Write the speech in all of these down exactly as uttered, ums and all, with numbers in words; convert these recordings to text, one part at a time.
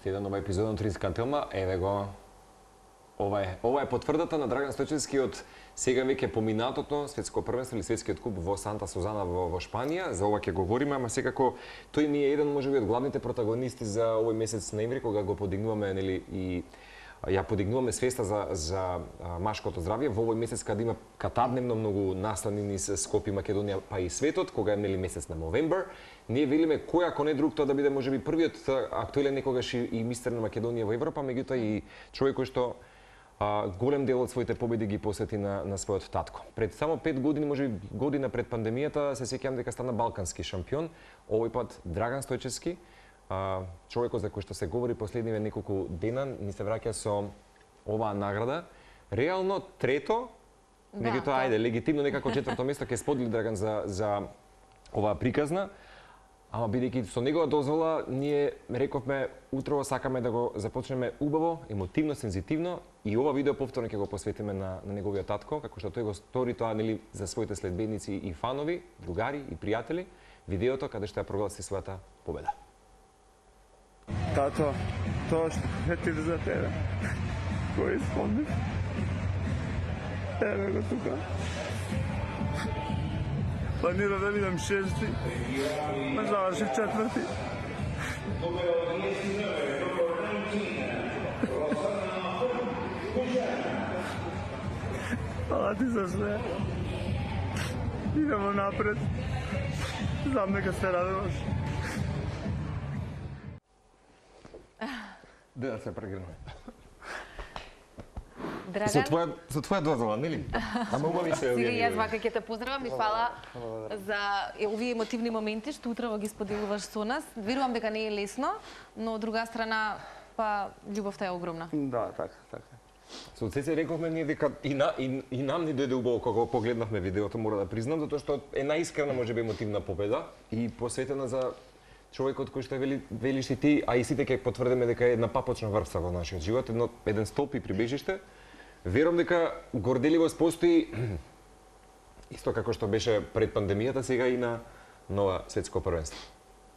Уште еден нова епизода на Тринскателма, еве го. Ова е, ова е потврдата на Драган Стојчевски од сега веќе поминатото светско првенство или светскиот куп во Санта Сузана во, во Шпанија. За ова ќе говориме, ама секако тој ни е еден можеби од главните протагонисти за овој месец ноември кога го подигнуваме нели и ја подигнуваме свеста за за а, машкото здравје во овој месец кога има катадневно многу наслани низ Скопје, Македонија, па и светот, кога е нели месец на Новембер. Ние велиме кој ако не друг тоа да биде можеби првиот актуелен некогаш и, и мистер на Македонија во Европа, меѓутоа и човек кој што а, голем дел од своите победи ги посвети на на својот татко. Пред само пет години, можеби година пред пандемијата, се сеќавам дека стана балкански шампион. Овој пат Драган Стојчевски, а, човекот за кој што се говори последниве неколку дена, ни се враќа со оваа награда. Реално трето, да, меѓутоа ајде легитимно некако четврто место ќе сподели Драган за за оваа приказна. Ама бидејќи со негова дозвола, ние рековме утрово сакаме да го започнеме убаво, емотивно, сензитивно и ова видео повторно ќе го посветиме на, на неговиот татко, како што тој го стори тоа нели за своите следбеници и фанови, другари и пријатели, видеото каде што ја прогласи својата победа. Тато, тоа што ти за тебе, кој спомниш? Еве го тука. Планира да видам шести, ма заврши четврти. Хвала ти за све. Идемо напред. Знам дека се радуваш. Да се прегрнува. Драган, Со твоја со твоја дозвола, нели? Ама убави се. Сега јас вака ќе те поздравам и фала за овие емотивни моменти што утрово ги споделуваш со нас. Верувам дека не е лесно, но од друга страна па љубовта е огромна. Да, така, така. Со Цеце рековме ние дека и, на, и, и нам ни дојде убаво кога погледнавме видеото, мора да признам, затоа што е најискрена можеби емотивна победа и посветена за човекот кој што вели, велиш и ти, а и сите ќе потврдиме дека е една папочна врвца во нашиот живот, едно еден столб и прибежиште. Верувам дека горделивост постои исто како што беше пред пандемијата, сега и на нова светско првенство.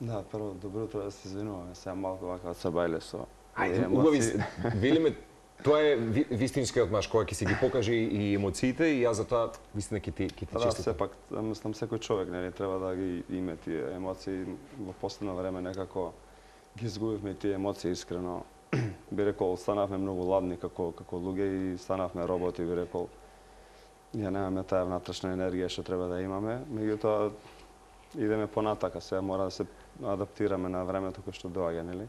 Да, прво добро утро, да се извинуваме, сега малку вака од сабајле со Ајде, убави се, велиме, тоа е ви, вистинскиот маж кој ќе си ги покаже и емоциите и јас затоа вистина ќе ти ќе ти Да, честитам. сепак, мислам секој човек нели треба да ги има тие емоции. Во последно време некако ги изгубивме тие емоции искрено. Би рекол, станавме многу ладни како како луѓе и станавме роботи, би рекол. Ја немаме таа внатрешна енергија што треба да имаме, меѓутоа идеме понатака, сега мора да се адаптираме на времето кое што доаѓа, нели?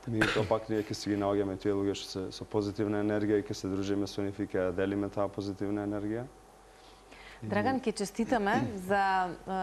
Меѓутоа пак ние ќе си ги наоѓаме тие луѓе што се со позитивна енергија и ќе се дружиме со нив и ќе делиме таа позитивна енергија. Драган, ќе честитаме за е,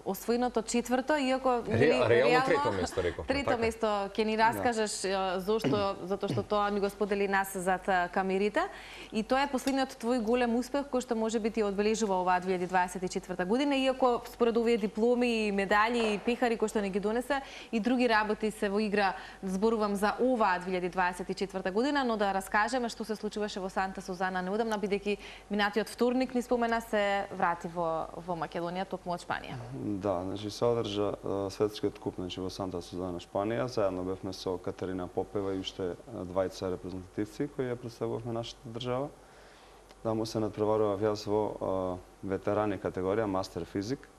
освоеното четврто, иако Ре, реално трето место рековме. Трето така? место ќе ни раскажеш да. Зошто, затоа што тоа ни го сподели нас зад камерите. И тоа е последниот твој голем успех кој што можеби ти одбележува оваа две илјади дваесет и четврта година, иако според овие дипломи, медали и пехари кои што ни ги донесе и други работи се во игра, зборувам за оваа две илјади дваесет и четврта година, но да раскажеме што се случуваше во Санта Сузана неодамна, бидејќи минатиот вторник ни спомена се врати во во Македонија, токму од Шпанија. Да, значи се одржа светскиот куп значи во Санта Сузана, Шпанија. Заедно бевме со Катерина Попева и уште двајца репрезентативци кои ја представувавме нашата држава. Таму се надпреварував јас во ветерани категорија мастер физик,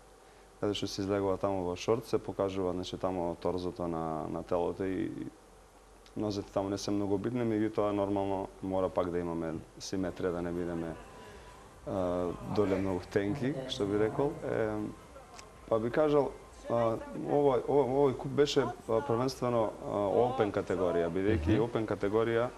каде што се излегува таму во шорт, се покажува значи таму торзото на на телото и нозете таму не се многу битни, меѓутоа нормално мора пак да имаме симетрија, да не бидеме доле многу тенки, што би рекол. Е, па би кажал, овој овој куп беше првенствено опен категорија, бидејќи mm -hmm. опен категорија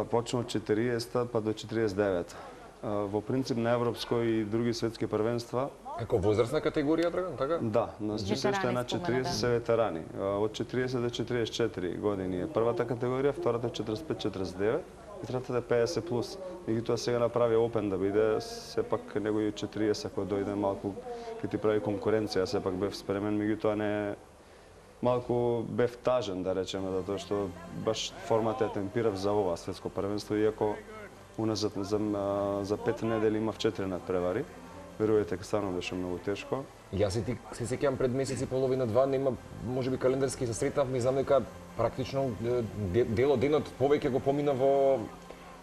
почна од четириесетта па до четириесет и девета. Во принцип на европско и други светски првенства. Како возрастна категорија, Драган, така? Да, значи се уште на четириесет се ветерани. Од четириесет до четириесет и четири години е првата категорија, втората четириесет и пет до четириесет и девет. И третата е педесет плюс. Меѓутоа сега направи опен да биде, сепак негови четириесет кога дојде малку ќе ти прави конкуренција, сепак бев спремен, меѓутоа не малку бев тажен да речеме, затоа што баш формата е темпирав за ова светско првенство, иако уназад за за пет недели имав четири надпревари. Верувајте, станува беше многу тешко. Јас и ти се сеќавам пред месец и половина два, нема можеби календарски се сретнавме и знам дека практично дел од денот повеќе го помина во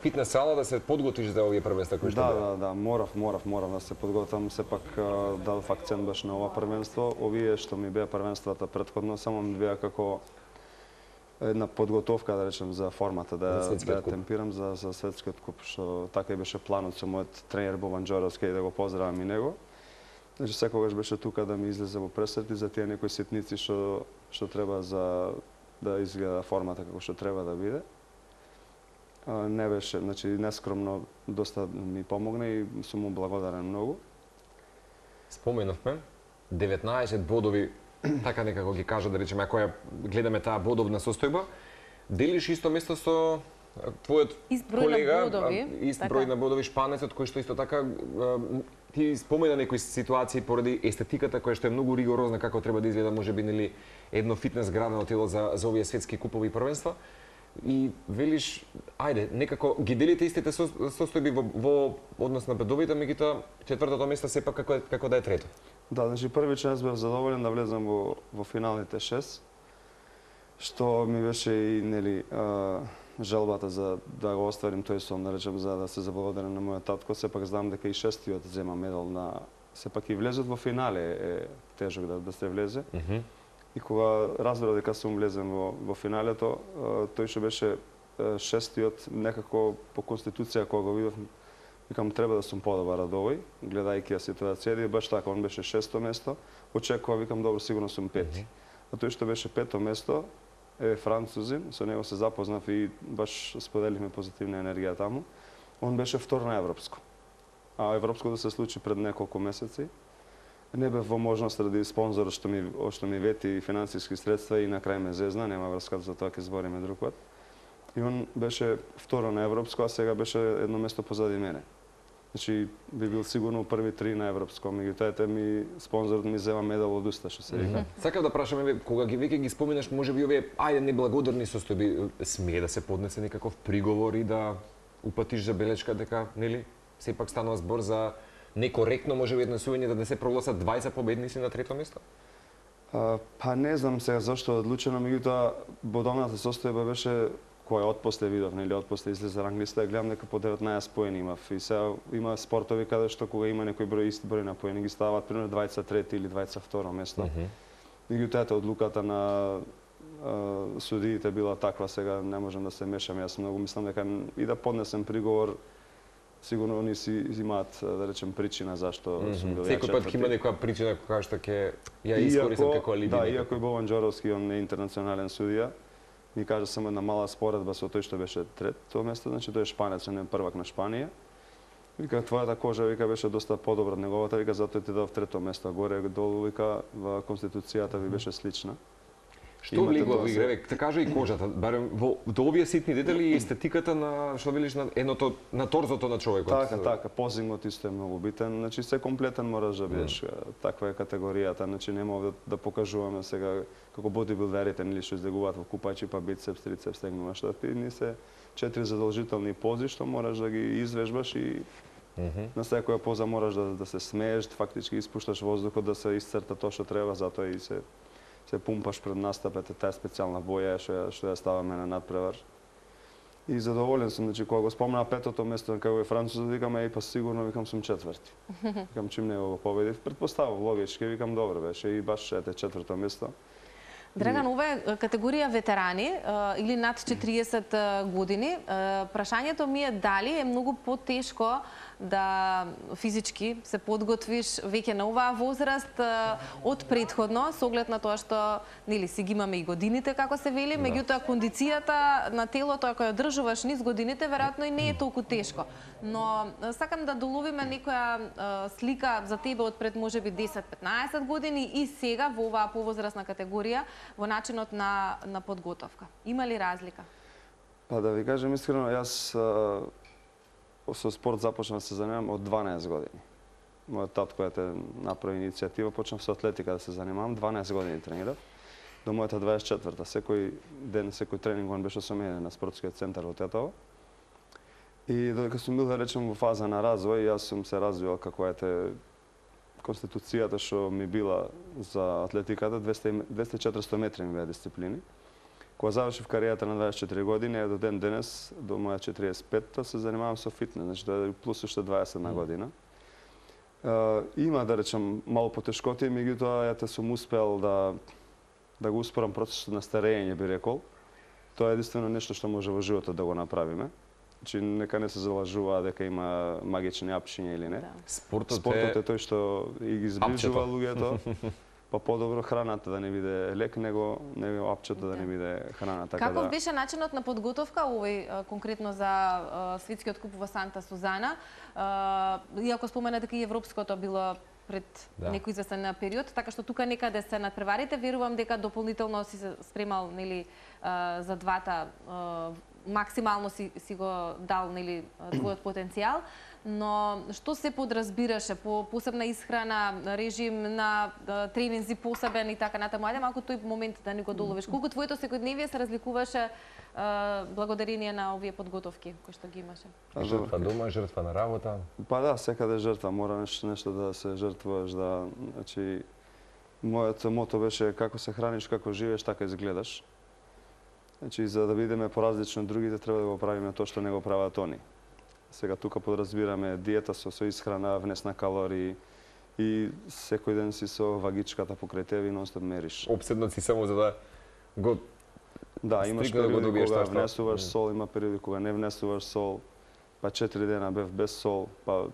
фитнес сала да се подготвиш за овие првенства кои што Да, беа. да, да, морав, морав, морав да се подготвам, сепак дадов акцент баш на ова првенство. Овие што ми беа првенствата претходно само ми беа како една подготовка, да речем, за формата, да, За да ја куп. темпирам за, за светскиот куп, што така и беше планот со мојот тренер Бобан Џоровски, и да го поздравам и него. Значи, секогаш беше тука да ми излезе во пресет и за тие некои ситници што, што треба за да изгледа формата како што треба да биде. А, не беше, значи, нескромно доста ми помогна и сум му благодарен многу. Споменавме деветнаесет бодови, така некако ги кажа, да речеме, ако ја гледаме таа бодовна состојба, делиш исто место со твојот Ист број на колега, бодови, а, ист така. број на бодови шпанецот, кој што исто така а, ти спомена некои ситуации поради естетиката која што е многу ригорозна како треба да изгледа можеби нели едно фитнес градено тело за за овие светски купови и првенства. И велиш, ајде, некако ги делите истите со, состојби во, во однос на бедовите, меѓутоа четвртото место сепак како, е- како да е трето. Да, значи први час бев задоволен да влезам во, во финалните шест, што ми беше и нели а, желбата за да го остварим тој сон, да речем, за да се заблагодарам на мојот татко. Сепак знам дека и шестиот зема медал на сепак и влезот во финале е тежок да, да се влезе. Mm -hmm. И кога разбрав дека сум влезен во, во финалето, а, тој што беше а, шестиот, некако по конституција кога го видов, викам треба да сум подобар од овој, гледајќи ја ситуацијата, и баш така, он беше шесто место, очекува, викам, добро, сигурно сум пети. Мгм. А тој што беше пето место е французин, со него се запознав и баш споделивме позитивна енергија таму. Он беше втор на европско. А европско да се случи пред неколку месеци. Не бев во можност ради спонзор што ми што ми вети финансиски средства и на крај ме зезна, нема врска, за тоа ќе збориме друг пат. И он беше второ на европско, а сега беше едно место позади мене. Значи би бил сигурно први три на европско, меѓутоа ете ми спонзорот ми зема медал од уста, што се вика. Сакав да прашам, еве, кога ги веќе ги споминаш, можеби овие ајде неблагодарни состојби, смее да се поднесе некаков приговор и да упатиш забелешка дека, нели, сепак станува збор за некоректно можеби однесување да не се прогласат двајца победници на трето место? А, па не знам сега зашто е одлучено, меѓутоа бодовната состојба беше која отпосле видов, нели, отпосле излезе ранглиста, гледам дека по деветнаесет поени имав. И сега има спортови каде што кога има некој број ист број на поени ги ставаат примерно двајца трети или двајца второ место. Меѓутоа ета одлуката на а, судиите била таква, сега не можам да се мешам, јас многу мислам дека и да поднесем приговор, сигурно они си имаат, да речем, причина зашто сум бил ја Секој пат ќе има четврти. некоја причина која што ќе ја искористам како алиби. Да, некако. иако и Бобан Џоровски, он е интернационален судија, ми кажа само една мала споредба со тој што беше трето место, значи тој е шпанец, он е првак на Шпанија. Вика, твојата кожа, вика, беше доста подобра од неговата, вика, затоа ти дав трето место, а горе долу, вика, во конституцијата ви беше слична. Што Имате влегува тоа во се- игра, ве, кажа и кожата, барем во до овие ситни детали и естетиката на што велиш на едното на торзото на човекот. Така, така, позингот исто е многу битен, значи се комплетен мораш да бидеш, таква е категоријата, значи нема да, да покажуваме сега како бодибилдерите, нели што излегуваат во купачи, па бицепс, трицепс, стегнува, што ти ни се четири задолжителни пози што мораш да ги извежбаш и на секоја поза мораш да, да се смееш, фактички испушташ воздухот да се исцрта тоа што треба, затоа и се се пумпаш пред настапот, таа специјална боја што ја, што ја ставаме на надпревар. И задоволен сум, значи кога го спомна петото место како е французот, викам еј па сигурно викам сум четврти. Викам чим не го победив, претпоставав логички, викам добро беше и баш ете четврто место. Драган, ова е категорија ветерани е, или над четириесет години. Е, Прашањето ми е дали е многу потешко да физички се подготвиш веќе на оваа возраст е, од претходно, со оглед на тоа што нели си ги имаме и годините како се вели, меѓутоа кондицијата на телото ако ја одржуваш низ годините веројатно и не е толку тешко. Но е, сакам да доловиме некоја е, слика за тебе од пред можеби десет-петнаесет години и сега во оваа повозрастна категорија во начинот на на подготовка. Има ли разлика? Па да ви кажем искрено, јас а, со спорт започнав да се занимавам од дванаесет години. Мојот татко ете направи иницијатива, почнав со атлетика да се занимавам, дванаесет години тренирав. До мојата дваесет и четврта, секој ден, секој тренинг он беше со мене на спортскиот центар во Тетово. И додека сум бил, да речем, во фаза на развој, јас сум се развивал како ете конституцијата што ми била за атлетиката, двесте и четиристо метри ми беа дисциплини. Кога завршив кариерата на дваесет и четири години, до ден денес, до моја четириесет и петта, се занимавам со фитнес, значи да е плюс уште дваесет една година. Uh, има, да речем, мало потешкоти, меѓутоа ја те сум успел да да го успорам процесот на старење, би рекол. Тоа е единствено нешто што може во животот да го направиме. Значи, нека не се залажува дека има магични апчиња или не. Да. Спортот, Спортот е... е тој што и ги зближува луѓето. Па подобро храната да не биде лек, него него апчето да не биде храна, така Каков да. беше начинот на подготовка овој а, конкретно за а, светскиот куп во Санта Сузана? А, иако спомена дека и европското било пред Да. некој известен период, така што тука некаде се надпреварите, верувам дека дополнително си се спремал нели а, за двата а, максимално си, си го дал нели твојот потенцијал, но што се подразбираше по посебна исхрана, режим на а, тренинзи посебен и така натаму. Ајде малку тој момент да ни го доловиш. Колку твоето секојдневие се разликуваше а, благодарение на овие подготовки кои што ги имаше? Жртва дома, жртва на работа. Па да, секаде жртва, мора нешто, нешто да се жртвуваш, да, значи, моето мото беше како се храниш, како живееш, така изгледаш. Значи, за да бидеме поразлични од другите, треба да го правиме тоа што не го прават они. Сега тука подразбираме диета со, со исхрана, внес на калории и секој ден си со вагичката покрај тебе и нонстоп мериш. Обседнат си само за да го... Да, имаш стрикно да го периоди добиеш кога тоа што- внесуваш Мгм. сол, има периоди кога не внесуваш сол, па четири дена бев без сол, па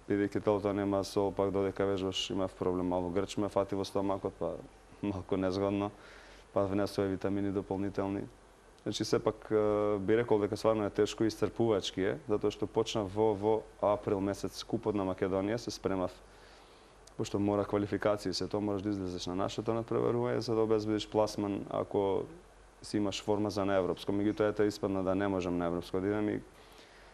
бидејќи телото нема сол, пак додека вежбаш имав проблем, мало грч ме фати во стомакот, па малку незгодно, па внесува витамини дополнителни. Значи сепак е, би рекол дека стварно е тешко и исцрпувачки е, затоа што почнав во во април месец купот на Македонија, се спремав пошто мора квалификации, се тоа можеш да излезеш на нашето надпреварување за да обезбедиш пласман ако си имаш форма за на европско. Меѓутоа ете испадна да не можам на европско да идем и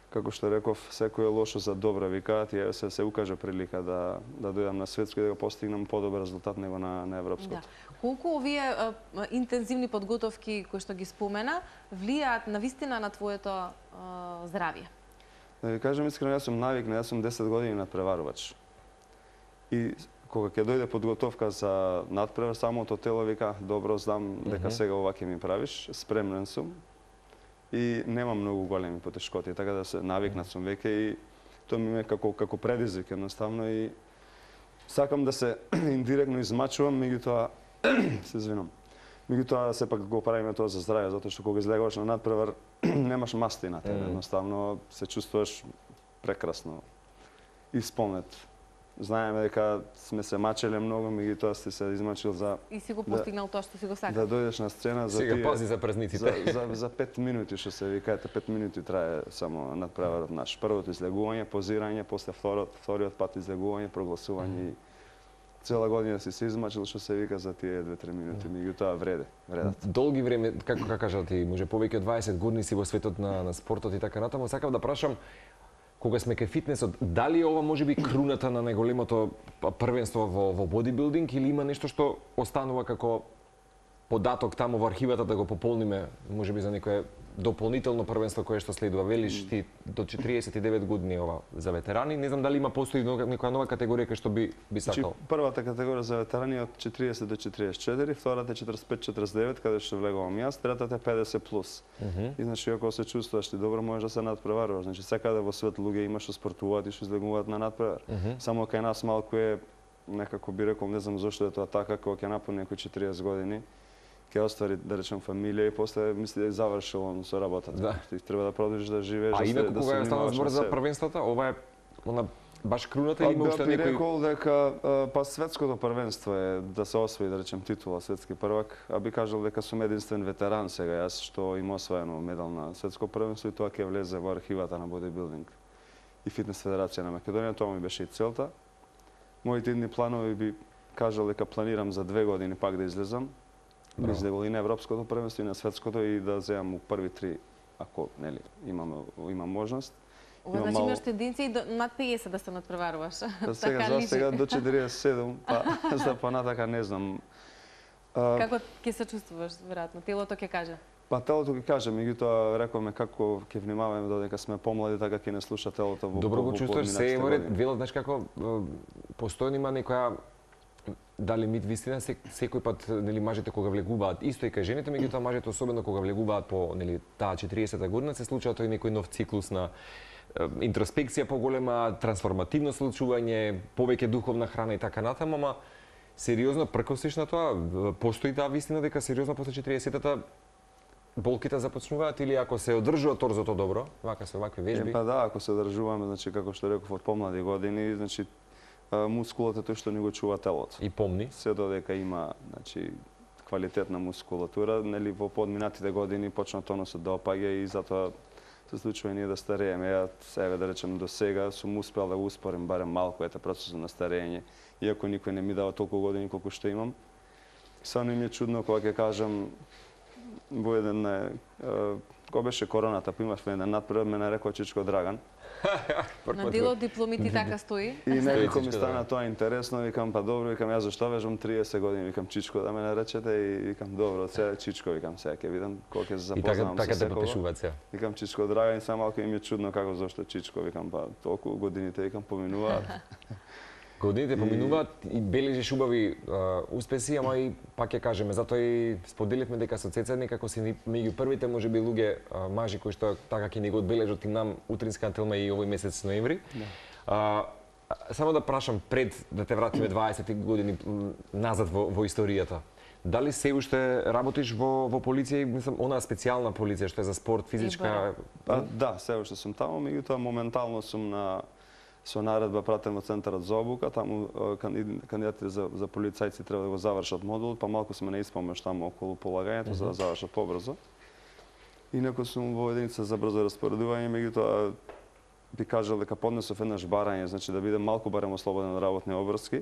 како што реков, секој е лошо за добро, викаат, и се се укаже прилика да да дојдам на светско и да го постигнам подобар резултат него на на европското. Да. Колку овие а, интензивни подготовки кои што ги спомена влијаат на вистина на твоето а, здравје? Да ви кажам искрено, јас сум навикнат, јас сум десет години надпреварувач. И кога ќе дојде подготовка за надпревар, самото тело вика, добро, знам дека сега ова ќе ми правиш, спремнен сум и немам многу големи потешкоти, така да се навикнат сум веќе и тоа ми е како како предизвик едноставно и сакам да се индиректно измачувам, меѓутоа се извинам. Меѓутоа сепак го правиме тоа за здравје, затоа што кога излегуваш на надпревар немаш масти на тебе, едноставно се чувствуваш прекрасно исполнет. Знаеме дека сме се мачеле многу, меѓутоа сте се измачил за И си го Да. постигнал тоа што си го сакал. да дојдеш на сцена за Сега тие пази за за, празниците. за, за пет минути што се викаете, пет минути трае само надпреварот наш. Првото излегување, позирање, после вториот, вториот пат излегување, прогласување и цела година си се измачил што се вика за тие две-три минути, меѓутоа вреде, вредат. Долги време, како како кажа ти, може повеќе од дваесет години си во светот на, на спортот и така натаму, сакав да прашам, кога сме кај фитнесот, дали ова може би круната на најголемото првенство во, во бодибилдинг или има нешто што останува како податок таму во архивата да го пополниме, може би за некое дополнително првенство кое што следува. Велиш ти до четириесет и девет години ова за ветерани, не знам дали има постои некоја нова категорија кај што би би Значи, сакал. првата категорија за ветерани е од четириесет до четириесет и четири, втората е четириесет и пет до четириесет и девет, каде што влегувам јас, третата е педесет плюс. И значи ако се чувствуваш ти добро, можеш да се надпреваруваш. Значи секаде во свет луѓе има што спортуваат и што излегуваат на надпревар. Само кај нас малку е некако би рекол, не знам зошто е тоа така, кога ќе напуни некои четириесет години, ќе оствари, да речем, фамилија и после мисли да е завршил он со работата. Да. Ти треба да продолжиш да живееш, А да, инаку се, да кога се е станал внимаваш збор на за себе. првенствата, ова е она баш круната Па или има уште би некои... рекол дека а, па светското првенство е да се освои, да речем, титула светски првак, а би кажал дека сум единствен ветеран сега јас што има освоено медал на светско првенство и тоа ќе влезе во архивата на бодибилдинг и фитнес федерација на Македонија, тоа ми беше и целта. Моите идни планови би кажал дека планирам за две години пак да излезам. Да излегол и на европското првенство и на светското и да земам у први три, ако нели имам имам можност. Ова Има значи мало- имаш тенденција и до над педесет да се надпреваруваш. Па сега Така за личи. сега до четириесет и седум, па за понатака не знам. А, Како ќе се чувствуваш, веројатно? Телото ќе каже. Па телото ќе кажем, меѓутоа рековме како ќе внимаваме додека сме помлади, така ќе не слуша телото во Добро го во чувствуваш се поминатите евore, години. велат знаеш како постојано има некоја дали мит вистина се, секој пат нели мажите кога влегуваат исто и кај жените, меѓутоа мажите особено кога влегуваат по нели таа четириесета година се случува тој некој нов циклус на е, интроспекција поголема, трансформативно случување, повеќе духовна храна и така натаму, ама сериозно пркосиш на тоа, постои таа вистина дека сериозно после четириесетата болките започнуваат или ако се одржува торзото добро, вака со вакви вежби? Е, па да, ако се одржуваме, значи како што реков од помлади години, значи мускулот е тој што ни го чува телото. И помни. Се додека има, значи, квалитетна мускулатура, нели во подминатите години почна тонусот да опаѓа и затоа се случува и ние да старееме. Ја себе да речем до сега сум успел да го успорим барем малку ете процесот на старење, иако никој не ми дава толку години колку што имам. Само ми е чудно кога ќе кажам во еден е, кога беше короната, па имавме еден надпревар, ме нарекоа Чичко Драган. На дел од дипломите така стои. И некако ми Чичко стана Драган. тоа интересно, викам па добро, викам јас зашто вежам триесет години, викам Чичко да ме наречете и викам добро, сега Чичко, викам сега ќе видам кога ќе се И така запознавам така со те секого. подпишуваат се. Викам Чичко Драган и само малку ми е чудно како зашто Чичко, викам па толку годините викам поминуваат. Годините поминуваат и бележиш убави а, успеси, ама и пак ќе кажеме, затоа и споделивме дека со Цеца некако си ни- меѓу првите можеби луѓе а, мажи кои што така ќе ни го одбележат и нам утринска антилма и овој месец ноември. А, само да прашам пред да те вратиме дваесет години м, назад во, во историјата. Дали се уште работиш во во полиција, мислам онаа специјална полиција што е за спорт, физичка? Па да, се уште сум таму, меѓутоа моментално сум на со наредба пратен во центарот за обука, таму е, канди- кандидатите за за полицајци треба да го завршат модулот, па малку сме на испомеш таму околу полагањето за да завршат побрзо. Инаку сум во единица за брзо распоредување, меѓутоа би кажал дека поднесов еднаш барање, значи да бидам малку барем ослободен од работни обврски.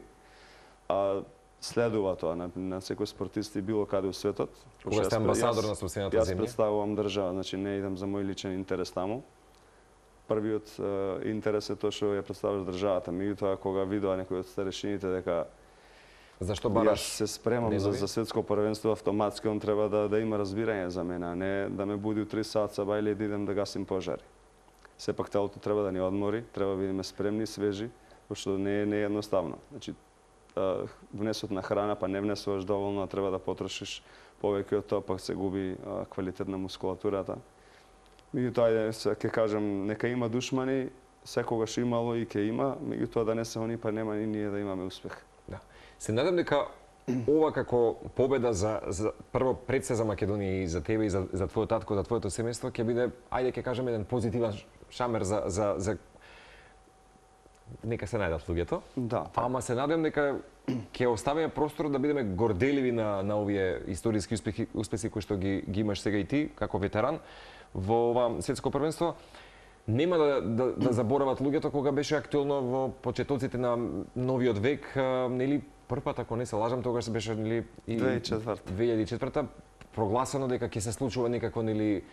А следува тоа на, на секој спортист и било каде у светот. Кога сте Јас- амбасадор јас- на собствената Јас земја? представувам држава, значи не идам за мој личен интерес таму. Првиот е, интерес е тоа што ја представуваш државата. Меѓутоа кога видоа некој од старешините дека Зашто јас бараш? се спремам за, денови? за светско првенство, автоматски он треба да, да има разбирање за мене, а не да ме буди у три саат бајле и да идем да гасим пожари. Сепак телото треба да ни одмори, треба да бидеме спремни, свежи, пошто не е не е едноставно. Значи а, внесот на храна, па не внесуваш доволно, а треба да потрошиш повеќе од тоа, пак се губи а, квалитет на мускулатурата. Меѓутоа, ајде, се ќе кажам, нека има душмани, секогаш имало и ќе има, меѓутоа да не се они, па нема ни ние да имаме успех. Да. Се надам дека ова како победа за, за прво пред се за Македонија и за тебе и за, за твојот татко, за твоето семејство ќе биде, ајде ќе кажеме еден позитивен шамер за за за нека се најдат луѓето. Да. Ама се надевам дека ќе оставиме простор да бидеме горделиви на на овие историски успехи успеси кои што ги ги имаш сега и ти како ветеран во ова светско првенство. Нема да, да, да заборават луѓето кога беше актуелно во почетоците на новиот век, а, нели првпат ако не се лажам, тогаш беше нели и две илјади и четврта. две илјади и четврта прогласено дека ќе се случува некако нели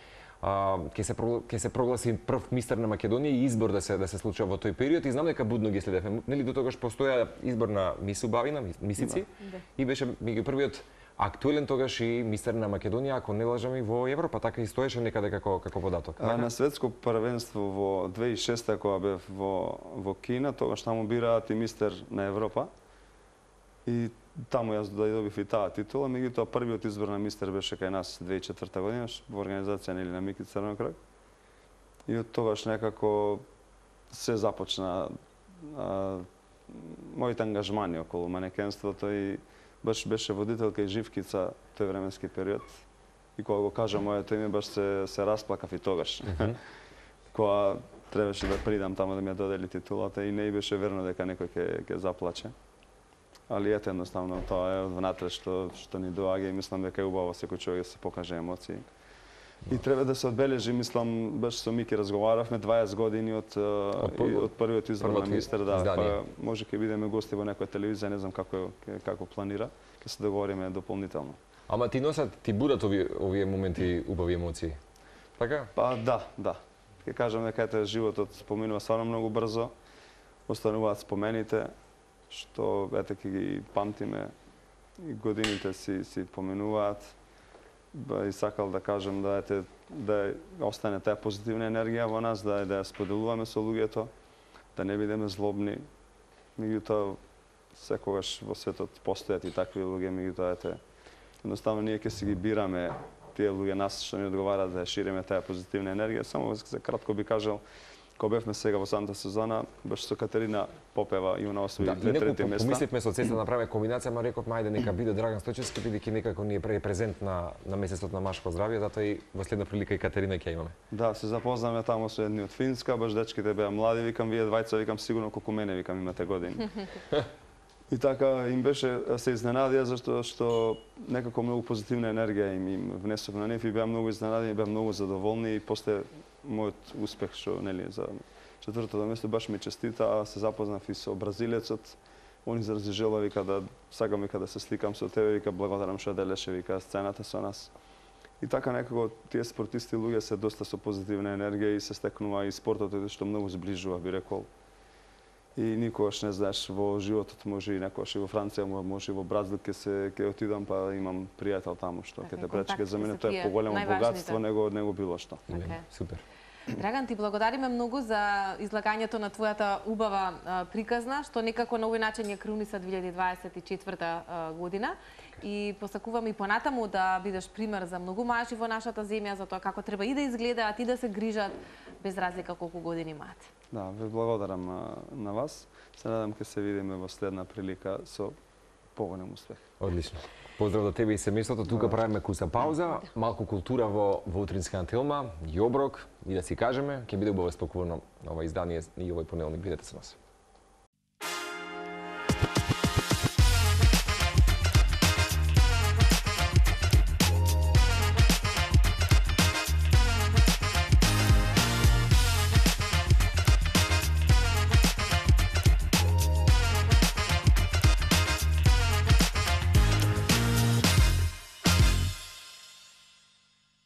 а, ќе се прогла- ќе се прогласи прв мистер на Македонија и избор да се да се случува во тој период и знам дека будно ги следевме. Нели до тогаш постоја избор на мис убавина, мис- мисици Да. и беше меѓу првиот актуелен тогаш и мистер на Македонија, ако не лажам и во Европа, така и стоеше некаде како како податок. А, на светско првенство во две илјади и шеста кога бев во во Кина, тогаш таму бираат и мистер на Европа. И таму јас да добив и таа титула, меѓутоа првиот избор на мистер беше кај нас две илјади и четврта година во организација нели на Мики Црнокрак. И од тогаш некако се започна а, моите ангажмани околу манекенството и баш беше водителка и живкица тој временски период. И кога го кажа моето име, баш се, се расплакав и тогаш. Кога требаше да придам таму да ми ја додели титулата и не и беше верно дека некој ќе ќе заплаче. Али ете едноставно тоа е од внатре што што ни доаѓа и мислам дека е убаво секој човек да се покаже емоции. И треба да се одбележи, мислам, баш со Мики разговаравме дваесет години од од, прв- од првиот избор на првото мистер, да, издание. па може ќе бидеме гости во некоја телевизија, не знам како е- како планира, ќе се договориме дополнително. Ама ти носат, ти будат овие овие моменти убави емоции. Така? Па да, да. Ќе кажам дека ете животот поминува стварно многу брзо. Остануваат спомените што ете ќе ги памтиме и годините си си поминуваат. и сакал да кажам да ете да остане таа позитивна енергија во нас, да да ја споделуваме со луѓето, да не бидеме злобни. Меѓутоа секогаш во светот постојат и такви луѓе, меѓутоа ете едноставно ние ќе си ги бираме тие луѓе нас што ни одговараат да ја шириме таа позитивна енергија. Само за кратко би кажал, кога бевме сега во Санта Сузана, баш со Катерина попева и она освои Да, две трети инаку места. помисливме со цеста да направиме комбинација, ма рековме ајде нека биде Драган Стојчевски, бидејќи некако ни е презент на на месецот на машко здравје, затоа и во следна прилика и Катерина ќе имаме. Да, се запознавме таму со едни од Финска, баш дечките беа млади, викам вие двајца, викам сигурно колку мене, викам имате години. И така им беше, се изненадија зашто што некако многу позитивна енергија им, им внесов на нив и беа многу изненадени, беа многу задоволни и после мојот успех што нели за четвртото место баш ми честита, а се запознав и со бразилецот. Он изрази желба, вика да сакам вика да се сликам со тебе, вика благодарам што делеше вика сцената со нас. И така некако тие спортисти луѓе се доста со позитивна енергија и се стекнува и спортот е што многу зближува, би рекол. И никогаш не знаеш во животот, може и некогаш и во Франција, може и во Бразил ќе се ќе отидам па имам пријател таму што ќе те пречка, за мене тоа е поголемо богатство него него било што. Okay. Супер. Драган, ти благодариме многу за излагањето на твојата убава а, приказна, што некако на овој начин ја круниса две илјади дваесет и четврта а, година. И посакувам и понатаму да бидеш пример за многу мажи во нашата земја, за тоа како треба и да изгледаат и да се грижат, без разлика колку години имаат. Да, ве благодарам а, на вас. Се надам ќе се видиме во следна прилика со поголем успех. Одлично. Поздрав до тебе и семејството. Тука правиме куса пауза, малку култура во во утринска антилма, и оброк, и да си кажеме, ќе биде убаво спокойно ова издание и овој понеделник. Бидете со нас.